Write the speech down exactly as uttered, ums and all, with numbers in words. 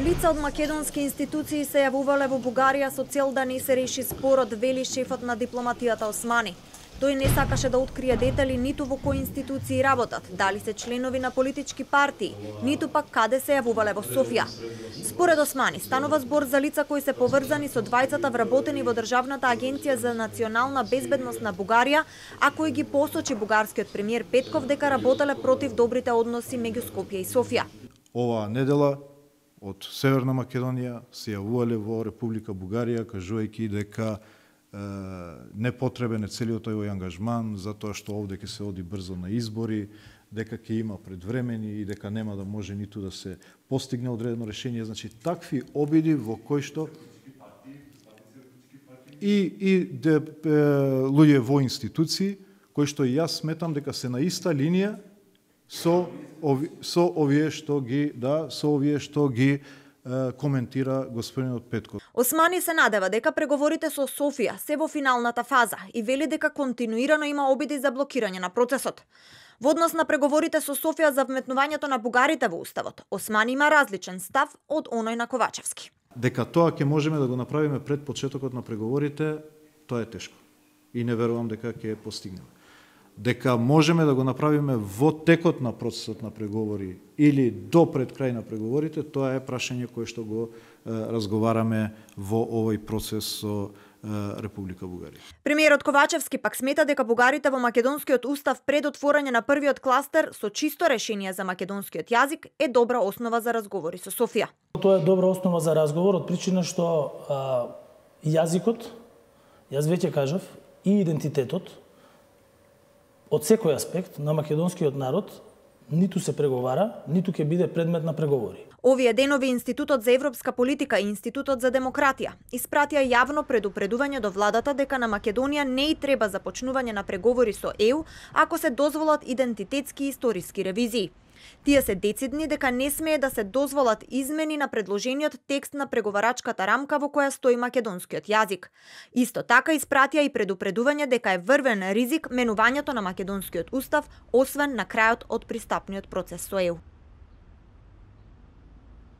Лица од македонски институции се јавувале во Бугарија со цел да не се реши спорот, вели шефот на дипломатијата Османи. Тој не сакаше да открие детали ниту во кои институции работат, дали се членови на политички партии, ниту пак каде се јавувале во Софија. Според Османи, станува збор за лица кои се поврзани со двајцата вработени во Државната агенција за национална безбедност на Бугарија, а кои ги посочи бугарскиот премиер Петков дека работеле против добрите односи меѓу Скопје и Софија. Оваа недела од Северна Македонија се јавувале во Република Бугарија, кажувајќи дека непотребен е целиот овој ангажман, затоа што овде ќе се оди брзо на избори, дека ќе има предвремени и дека нема да може ниту да се постигне одредено решение. Значи, такви обиди во кои што и, и де, е, луѓе во институции, кои што јас сметам дека се на иста линија со, ови, со овие што ги, да, со овие што ги коментира господинот Петков. Османи се надева дека преговорите со Софија се во финалната фаза и вели дека континуирано има обиди за блокирање на процесот. Во однос на преговорите со Софија за вметнувањето на бугарите во уставот, Османи има различен став од оној на Ковачевски. Дека тоа ќе можеме да го направиме пред почетокот на преговорите, тоа е тешко. И не верувам дека ќе постигнеме. Дека можеме да го направиме во текот на процесот на преговори или до пред крај на преговорите, тоа е прашање кое што го е, разговараме во овој процес со е, Република Бугарија. Премиерот Ковачевски пак смета дека бугарите во македонскиот устав пред отворање на првиот кластер со чисто решение за македонскиот јазик е добра основа за разговори со Софија. Тоа е добра основа за разговор од причина што а, јазикот, јас веќе кажав, и идентитетот од секој аспект на македонскиот народ ниту се преговара, ниту ќе биде предмет на преговори. Овие денови Институтот за европска политика и Институтот за демократија испратија јавно предупредување до владата дека на Македонија не и треба започнување на преговори со Е У ако се дозволат идентитетски и историски ревизии. Тие се децидни дека не смее да се дозволат измени на предложениот текст на преговарачката рамка во која стои македонскиот јазик. Исто така испратија и предупредување дека е врвен ризик менувањето на македонскиот устав, освен на крајот од пристапниот процес со Е У.